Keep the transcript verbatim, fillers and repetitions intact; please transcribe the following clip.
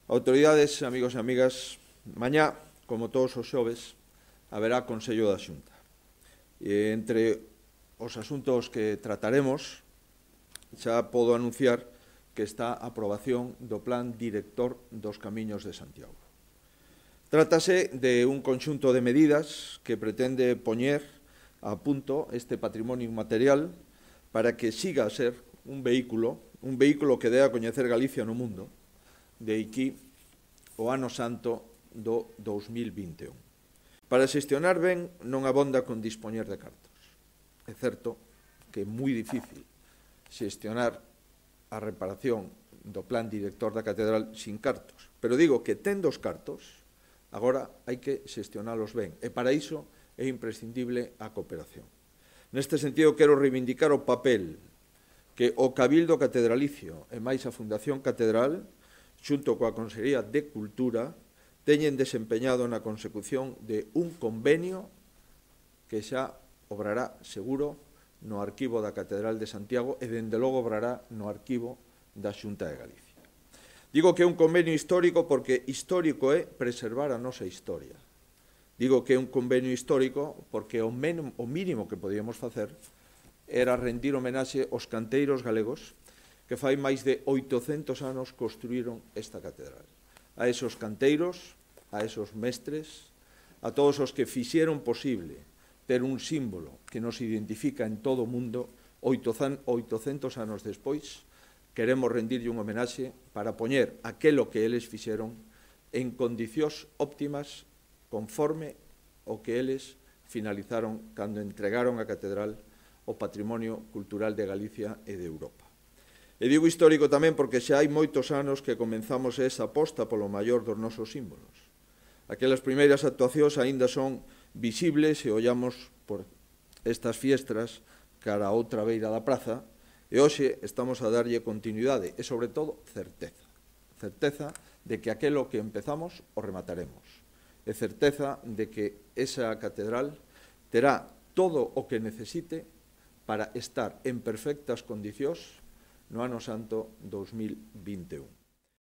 Autoridades, amigos e amigas, mañá, como todos os xoves, haberá Consello da Xunta. E entre os asuntos que trataremos, xa podo anunciar que está a aprobación do Plan Director dos Camiños de Santiago. Trátase de un conxunto de medidas que pretende poñer a punto este patrimonio inmaterial para que siga a ser un vehículo, un vehículo que dé a coñecer Galicia no mundo, de aquí o ano santo do dous mil vinte e un. Para xestionar ben non abonda con dispoñer de cartos. É certo que é moi difícil xestionar a reparación do plan director da catedral sin cartos, pero digo que tendo os cartos, agora hai que xestionalos ben, e para iso é imprescindible a cooperación. Neste sentido, quero reivindicar o papel que o Cabildo Catedralicio e máis a Fundación Catedral, xunto coa Consellería de Cultura, teñen desempeñado na consecución de un convenio que xa obrará seguro no arquivo da Catedral de Santiago e, dende logo, obrará no arquivo da Xunta de Galicia. Digo que é un convenio histórico porque histórico é preservar a nosa historia. Digo que é un convenio histórico porque o mínimo que podíamos facer era rendir homenaxe aos canteiros galegos que fai máis de oitocentos anos construíron esta catedral. A esos canteiros, a esos mestres, a todos os que fixeron posible ter un símbolo que nos identifica en todo o mundo, oitocentos anos despois, queremos rendirlle un homenaxe para poñer aquelo que eles fixeron en condicións óptimas conforme o que eles finalizaron cando entregaron a catedral ao patrimonio cultural de Galicia e de Europa. E digo histórico tamén porque xa hai moitos anos que comenzamos esa aposta polo maior dos nosos símbolos. Aquelas primeiras actuacións aínda son visibles se ollamos por estas fiestras cara a outra beira da praza e hoxe estamos a darlle continuidade e, sobre todo, certeza. Certeza de que aquelo que empezamos o remataremos. E certeza de que esa catedral terá todo o que necesite para estar en perfectas condicións no ano santo dous mil vinte e un.